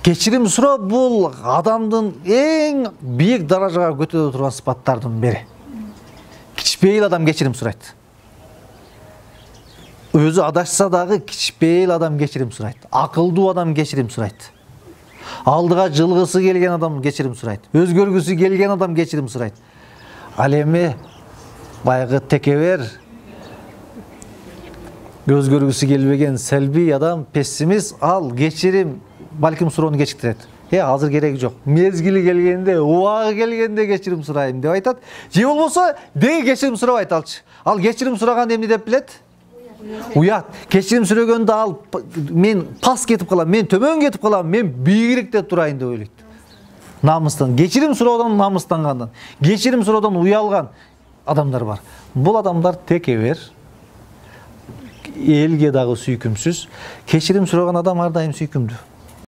Кечирим суроо бул адамдын эң бийик даражага көтөрө турган сыпаттардын бири. Кичпейил адам кечирим сурайт. Өзү адашса дагы кичпейил адам кечирим сурайт. Акылдуу адам кечирим сурайт. Алдыга жылгысы келген адам кечирим сурайт. Өзгөргүсү келген адам кечирим сурайт. Ал эми баягы текебер, өзгөргүсү келбеген селбий адам, пессимист, ал кечирим балким суроону кечиктирет. Азыр кереги жок. Мезгили келгенде, убагы келгенде кечирим сурайм деп айтат. Же болбосо деги кечирим сурабайт алчы. Ал кечирим сураган эмне деп билет? Уят. Кечирим сүрөгөндө ал мен пас кетип калам, мен төмөн кетип калам, мен бийигирээкте турайын деп ойлойт. Намыстан, кечирим суроодон намыстангандан, кечирим суроодон уялган адамдар бар. Бул адамдар текебер, элге дагы сүйкүмсүз. Кечирим сураган адам ар дайым сүйкүмдүү.